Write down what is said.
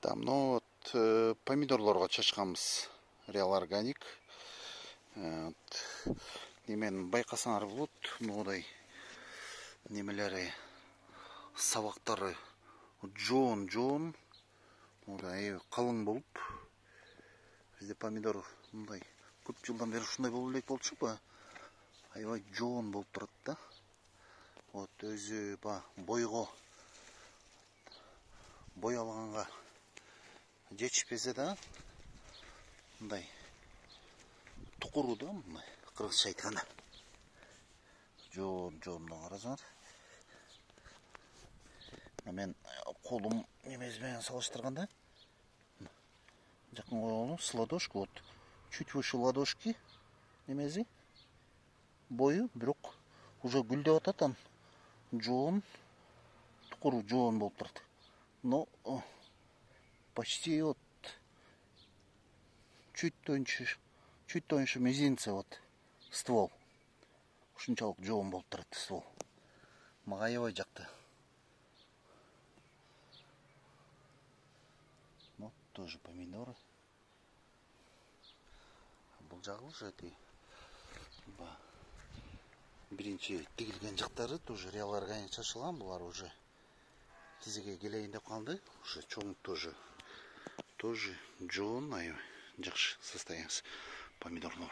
Давно помидорлорго чачканбыз. Real Organic. Немен байкасаңар болот, мындай немелери, сабактары жоон, мындай калың болуп. Бизде помидор мындай көп жылдан бери ушундай болуп элек болчу, аябай жоон болуп турат да. Вот өзү бойго бой алганга жетишпесе да, мындай тукуру да, мындай кыргызча айтканда. Жоондан карасаңар. Мен колум немеси менен салыштырганда, жакын койгонум с ладошки, вот чуть выше ладошки немеси бою, бирок уже гүлдөп атат, анан жоон, тукуру жоон болуп турат. Но почти вот чуть тоньше мизинца вот ствол. Ушунчалык жоон болуп турат ствол. Мага аябай жакты. Вот тоже помидоры. Бул жагы уже биринчи тигилген жактары тоже Real Organic чачылган, булар уже тизеге келейин деп калды. Уже чоң тоже жоон, аябай жакшы состояниясы помидордун.